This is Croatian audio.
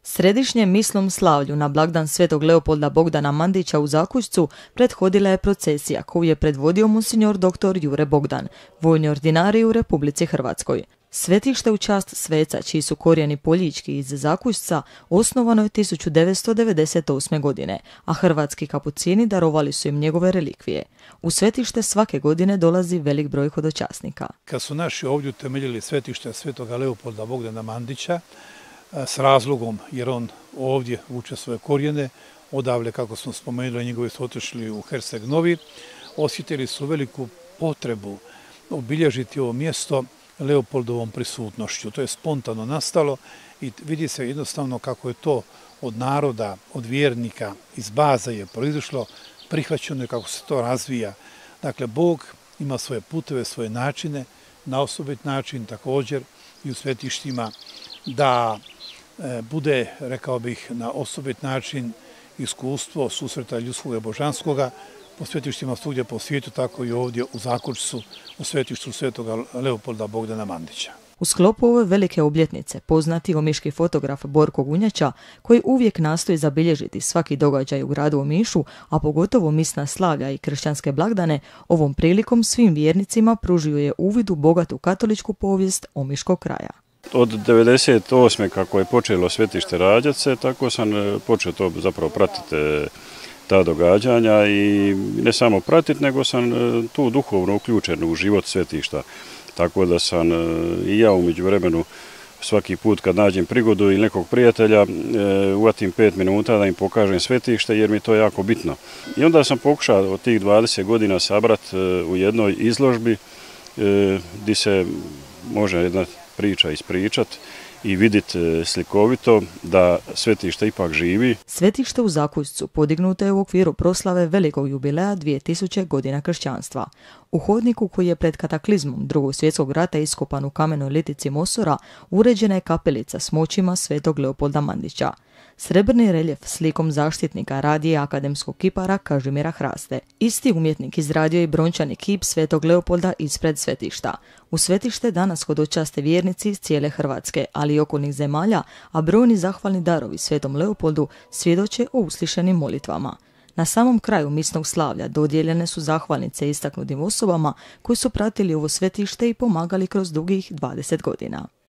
Središnjem misnom slavlju na blagdan Svetog Leopolda Bogdana Mandića u Zakušcu prethodila je procesija koju je predvodio monsignor dr. Jure Bogdan, vojni ordinarij u Republici Hrvatskoj. Svetište u čast sveca, čiji su korijeni Poljički iz Zakušca, osnovano je 1998. godine, a hrvatski kapucini darovali su im njegove relikvije. U svetište svake godine dolazi velik broj hodočasnika. Kad su naši ovdje utemeljili svetište Svetoga Leopolda Bogdana Mandića, s razlogom, jer on ovdje vuče svoje korijene, odavle, kako smo spomenuli, njegovi su otišli u Herceg Novi, osjetili su veliku potrebu obilježiti ovo mjesto Leopoldovom prisutnošću. To je spontano nastalo i vidi se jednostavno kako je to od naroda, od vjernika, iz baza je proizašlo, prihvaćeno je kako se to razvija. Dakle, Bog ima svoje puteve, svoje načine, na osobit način također i u svetištima, da bude, rekao bih, na osobit način iskustvo susreta ljudskog i božanskoga po svetištima svugdje po svijetu, tako i ovdje u Zakušcu, u svetištu Svetoga Leopolda Bogdana Mandića. U sklopu ove velike obljetnice poznati omiški fotograf Borko Gunjača, koji uvijek nastoji zabilježiti svaki događaj u gradu Omišu, a pogotovo misna slavlja i kršćanske blagdane, ovom prilikom svim vjernicima pružio je uvid u bogatu katoličku povijest omiškog kraja. Od 1998. kako je počelo svetište rađati se, tako sam počeo to zapravo pratiti ta događanja i ne samo pratiti, nego sam tu duhovno uključen u život svetišta. Tako da sam i ja u međuvremenu svaki put kad nađem prigodu ili nekog prijatelja uvatim 5 minuta da im pokažem svetište jer mi je to jako bitno. I onda sam pokušao od tih 20 godina sabrati u jednoj izložbi gdje se može jedna priča ispričati i vidjeti slikovito da svetište ipak živi. Svetište u Zakušcu podignuto je u okviru proslave velikog jubileja 2000 godina kršćanstva. U hodniku koji je pred kataklizmom Drugog svjetskog rata iskopan u kamenoj litici Mosora uređena je kapelica s moćima Svetog Leopolda Mandića. Srebrni reljef slikom zaštitnika radije akademskog kipara Kažimira Hraste. Isti umjetnik izradio je brončani kip Svetog Leopolda ispred svetišta. U svetište danas hodočaste vjernici iz cijele Hrvatske, ali i okolnih zemalja, a brojni zahvalni darovi Svetom Leopoldu svjedoče o uslišenim molitvama. Na samom kraju misnog slavlja dodijeljene su zahvalnice istaknutim osobama koji su pratili ovo svetište i pomagali kroz dugih 20 godina.